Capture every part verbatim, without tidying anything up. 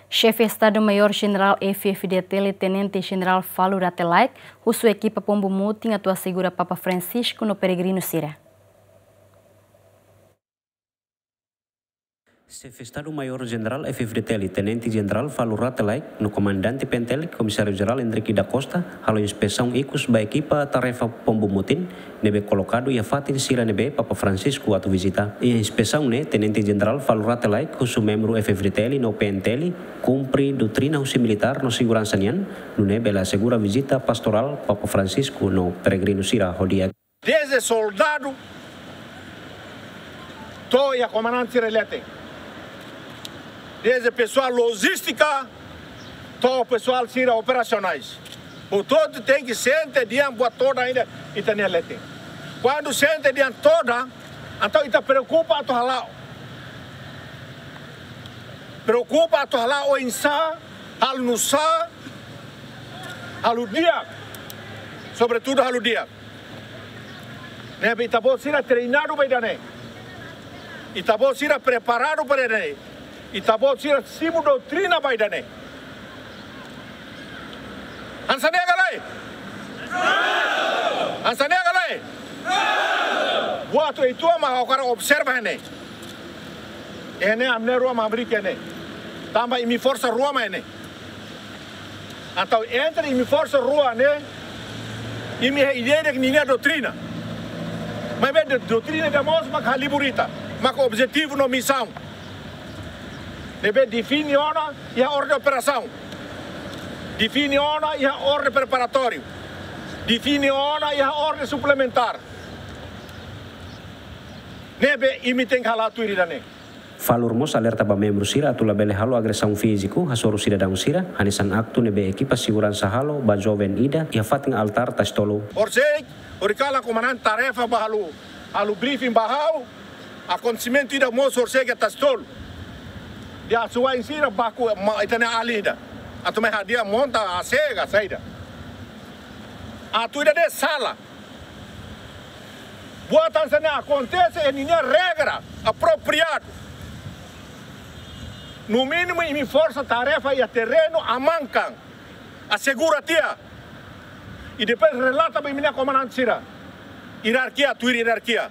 Xefe Estadu Maiór Jenerál F-FDTL, Tenente Jenerál Falur Rate Laek, husu ekipa Pombu Mutin atu asegura Papa Francisco no peregrinu sira. Xefe Estadu Maiór Jenerál F-FDTL, Tenente Jenerál Falur Rate Laek, no Komandante P N T L, Komisáriu Jerál Hendrick da Costa, halo inspesaun ikus ba ekipa tarefa Pombu Mutin ne'ebé kolokadu iha fatin sira ne'ebé Papa Francisco atu vizita. Iha inspesaun ne'e, Tenente Jenerál Falur Rate Laek husu membru F-FDTL no P N T L kumpre doutrina husi militár no seguransa nian, nune'e bele asegura vizita pastorál Papa Francisco no peregrinu sira ho di'ak. Desde soldadu to'o iha komandante sira leten. Desde pesoál lojístika to'o pesoál sira operasionais. Portantu, tenke sente di'ak buat todan ida ita-nia leten. Kuandu sente di'ak todan, entaun ita preokupa atu hala'o. Preokupa atu hala'o oinsá, halo nu'usá, halo di'ak. Sobretudu halo di'ak. Ne'ebé ita-boot sira treinadu ba ida-ne'e. Ita-boot sira preparadu ba ida-ne'e. Ita-boot sira simu doutrina ba ida-ne'e. Hanesan ne'e ka lae? Hanesan ne'e ka lae? Buat ida mak ha'u hakarak observa ne'e. Ne'e ami-nia rua mak hamriik ne'e. Tanba imi forsa rua mak ne'e. Entaun entre imi forsa rua ne'e, imi iha ida-idak ninia doutrina. Maibé do-, doutrina ida mós maka halibur ita, maka objetivu no misaun. Ne'ebé define ona iha orden operasaun. Define ona iha orden preparatóriu. Define ona iha orden suplementár. Ne'ebé imi tenke hala'o tuir ida-ne'e. Falur mós alerta ba membru sira atu labele halo agresaun fíziku hasoru sidadaun sira, hanesan aktu ne'ebé ekipa seguransa halo ba joven ida iha fatin altár Tasitolu. Horisehik, horikalan komandante tarefa bá halo, halo briefing ba ha'u, akontesimentu ida mós horisehik iha Tasitolu. Dehan asuwa'in sira baku ma-, ita-nia alin ida. Atu mai hadi'a monta A C ka saida. Atu ida-ne'e sala. Buat hanesan ne'e akontese iha ninia regra apropriadu. No mínimu imi forsa tarefa iha terrenu amankan, asegura tiha. I depois relata ba imi-nia komandante sira. Ierarkia, tuir ierarkia.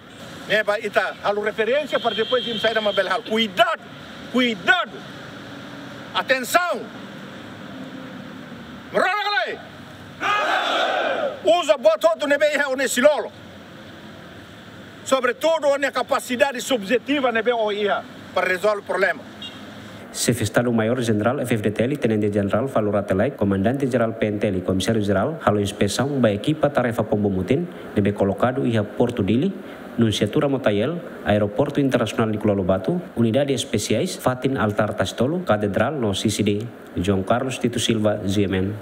Ne'ebé ita halo referénsia para depois imi saida mak bele halo. Kuidadu, kuidadu. Atensaun. Rona ka lae? Uza buat hotu ne'ebé iha ó-nia xilolo. Sobretudu ó-nia kapasidade subjetiva ne'ebé ó iha para rezolve problema. Xefe Estadu Maiór Jenerál F-FDTL, Tenente Jenerál Falur Rate Laek, Komandante Jerál P N T L, Komisáriu Jerál, halo inspesaun ba ekipa tarefa Pombu Mutin ne'ebé kolokadu iha Portu Dili, Nunciatura Motael, Aeroportu Internasionál Nicolau Lobato, Unidade Espesiais, fatin altár Tasitolu, Katedrál no C C D. João Carlos Tito Silva, G M N.